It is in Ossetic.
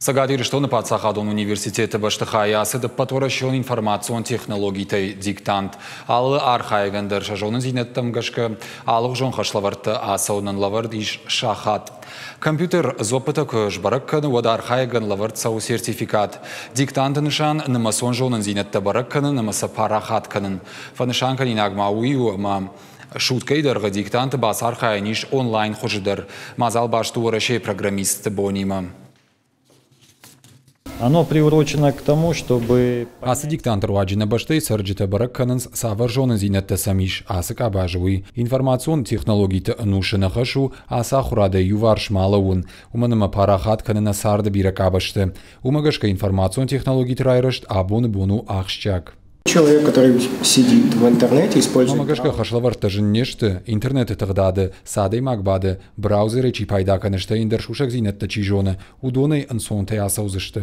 Цӕгат Ирыстоны паддзахадон университеты бӕстыхайы ацыд ӕппӕтуӕрӕсеон информацион технологитӕй диктант. Алы архайӕгӕн дӕр сӕ зонындзинӕдтӕм гӕсгӕ алыгъуызон хӕслӕвӕрдтӕ ацӕуынӕн лӕвӕрд ис сахат. Компьютер дзуӕппытӕ куы сбӕрӕг кӕны, уӕд архайӕгӕн лӕвӕрд цӕуы сертификат. Диктанты нысан нымӕцон зонындзинӕдтӕ бӕрӕг кӕнын ӕмӕ сӕ парахат кӕнын. Фӕнысанкӕнинаг ма уый у, ӕмӕ суткӕйы дӕргъы диктанты бацархайӕн ис онлайн хуызы дӕр. Мадзал баст у Уӕрӕсейы программистты бонимӕ. Оно приурочено к тому, чтобы... Ацы диктанты руаджы нӕ бӕстӕйы цӕрджытӕ бӕрӕг кӕнынц, цавӕр зонындзинӕдтӕ сӕм ис ацы къабазы, уый. Информацион технологиты ӕнусы нӕ хӕс у ацы ахуырадӕй иуварс ма лӕууын, уымӕн ӕмӕ парахат кӕны нӕ царды бирӕ къабӕзты. Уымӕ гӕсгӕ информацион технологиты райрӕзт абоны бон у ахсджиаг. Человек, который сидит в интернете, использует... Уымӕ гӕсгӕ хӕслӕвӕрдтӕ зын не сты, интернеты тыгъдады цы адӕймаг бады, браузерӕй чи пайда кӕны, стӕй ӕндӕр сусӕгдзинӕдтӕ чи зоны, уыдонӕй ӕнцонтӕй ацӕудзысты.